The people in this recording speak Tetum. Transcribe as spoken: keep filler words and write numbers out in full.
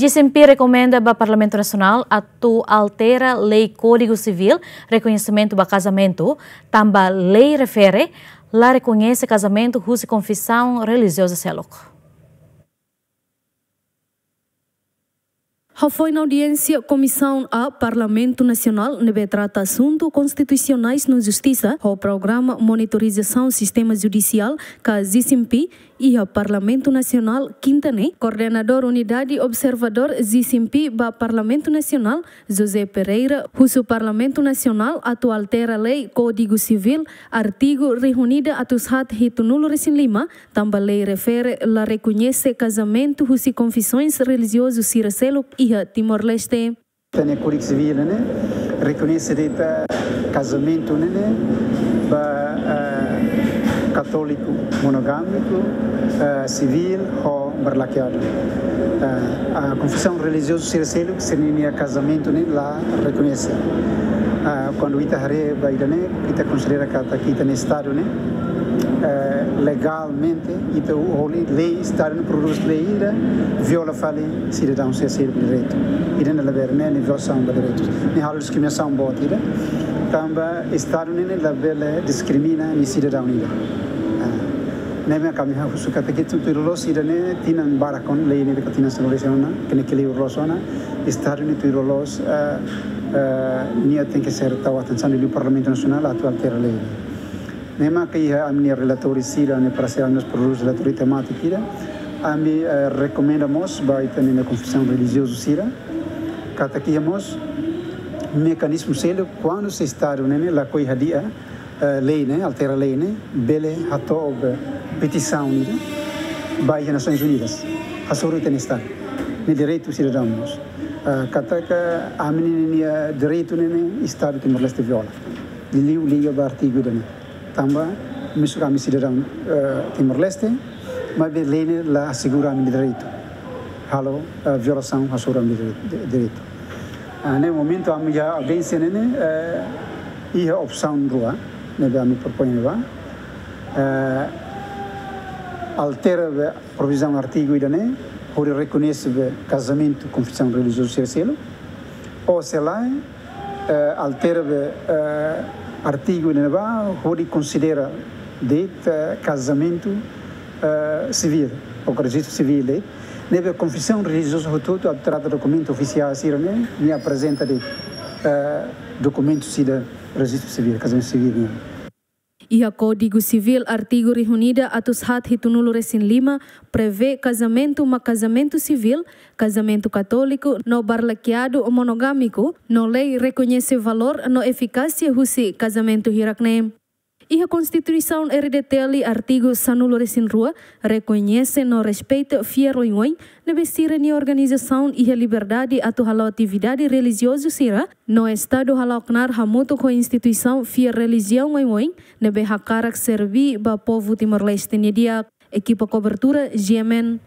G C M P rekomenda ba Parlamentu Nasionál atu altera lei Kódigu Sivíl rekoñesimentu ba kazamentu, tanba lei refere la rekoñese kazamentu husi konfisaun relijiozu seluk. Hafoin audiénsia Komisaun A Parlamentu Nasionál ne'ebé trata asuntu konstitusionais no justisa ho programa monitorizasaun sistema judisiál ka G C M P iha Parlamentu Nasionál kinta ne'e, koordenadór Unidade Observadór G C M P ba Parlamentu Nasionál, José Pereira, husu Parlamentu Nasionál atu altera lei Kódigu Sivíl, artigu rihun ida atus haat hitunulu resin lima, tanba lei refere la rekoñese kazamentu husi konfisaun relijiozu sira seluk iha Timor-Leste. Ita-nia Kódigu Sivíl ne'e rekoñese de'it kazamentu ne'e ba, eh, katóliku monogámiku, eh, sivíl ho barlakeadu. Eh, a konfisaun relijiozu sira seluk, sira-nia kazamentu ne'e la rekoñese. Eh, kuandu ita haree ba ida-ne'e, ita konsidera katak ita-nia Estadu ne'e, eh, legalmente, ita ho lei, Estadu ne'e prodús lei ida, viola fali sidadaun sira seluk nia direitu. Ida-ne'e labele, ne'e, ne'e violasaun ba direitus. Ne'e halo diskriminasaun boot ida. Tanba Estadu ne'e, ne'e labele diskrimina nia sidadaun ida. Ah, ne'e mak ami husu katak ita tuir loloos ida-ne'e, tinan barak ona lei ne'e, ka tinan sanulu-resin ona, kene kele loloos ona, Estadu ne'e tuir loloos, eh, eh, nia tenke ser tau atensaun liu Parlamentu Nasionál atu altera lei. Ne'e mak iha ami-nia relatóriu sira, ami parese ami-nia prodús relatóriu temátiku sira, ami, eh, rekomenda mós ba ita-nia konfisaun relijiozu sira, katak iha mós mekanizmu seluk, kuandu se Estadu ne'e, ne'e lakohi hadi'a, eh, lei ne'e, altera lei ne'e, bele hato'o petisaun ida ba iha Nasoins Unidas. Hasoru ita-nia Estadu. Ne'e direitu sidadaun mós. Eh, katak ami-nia direitu ne'e, ne'e Estadu Timor-Leste viola. Liuliu liga ba artigu ida-ne'e. Tanba, mezmu ami sidadaun, eh, Timor-Leste, maibé lei ne'e la asegura ami-nia direitu. Halo, eh, violasaun hasoru ami-nia dire-, di-, direitu. Ah, ne'e momentu ami iha audiénsia ne'e, ne'e, eh, iha opsaun rua, ne'ebé ami propoin ba. Eh, altera be provizaun artigu ida-ne'e, hodi rekoñese be kazamentu konfisaun relijiozu sira seluk. Ou se lae, eh, altera be, eh, artigu ne'ebá, hodi konsidera de'it, eh, kazamentu, eh, sivíl, ou rejista sivíl de'it. Ne'ebé konfisaun relijiozu hotu-hotu atu trata dokumentu ofisiál sira ne'e, nia aprezenta de'it, eh, dokumentu sira rejista sivíl, kazamentu sivíl nian. Iha Kódigu Sivíl artigu rihun ida atus haat hitunulu-resin-lima prevee kazamentu mak kazamentu sivíl, kazamentu katóliku no barlakeadu monogámiku, no lei rekoñese valór no efikásia husi kazamentu hirak-ne'e. Iha Konstituisaun R D T L artigu sanulu-resin-rua rekoñese no respeita fiar oioin ne'ebé sira-nia organizasaun iha liberdade atu hala'o atividade relijiozu sira, no Estadu hala'o knaar hamutuk ho instituisaun fiar relijiaun oioin ne'ebé hakarak serbí ba povu Timor-Leste nia di'ak. Ekipa kobertura, G M N.